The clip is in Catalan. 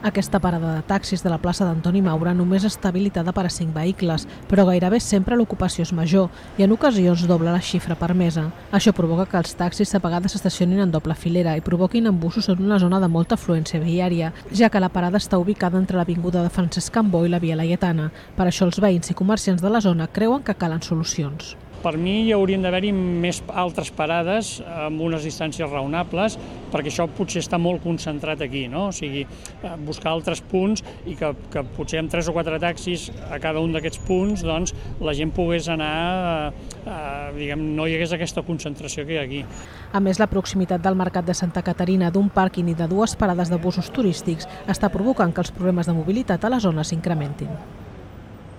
Aquesta parada de taxis de la plaça d'Antoni Maura només està habilitada per a 5 vehicles, però gairebé sempre l'ocupació és major i en ocasions dobla la xifra permesa. Això provoca que els taxis a vegades s'estacionin en doble filera i provoquin embussos en una zona de molta afluència viària, ja que la parada està ubicada entre l'avinguda de Francesc Cambó i la Via Laietana. Per això els veïns i comerciants de la zona creuen que calen solucions. Per mi hi haurien d'haver-hi més altres parades amb unes distàncies raonables, perquè això potser està molt concentrat aquí, no? O sigui, buscar altres punts i que potser amb 3 o 4 taxis a cada un d'aquests punts doncs, la gent pogués anar, no hi hagués aquesta concentració que hi ha aquí. A més, la proximitat del Mercat de Santa Caterina, d'un pàrquing i de 2 parades de busos turístics està provocant que els problemes de mobilitat a la zona s'incrementin.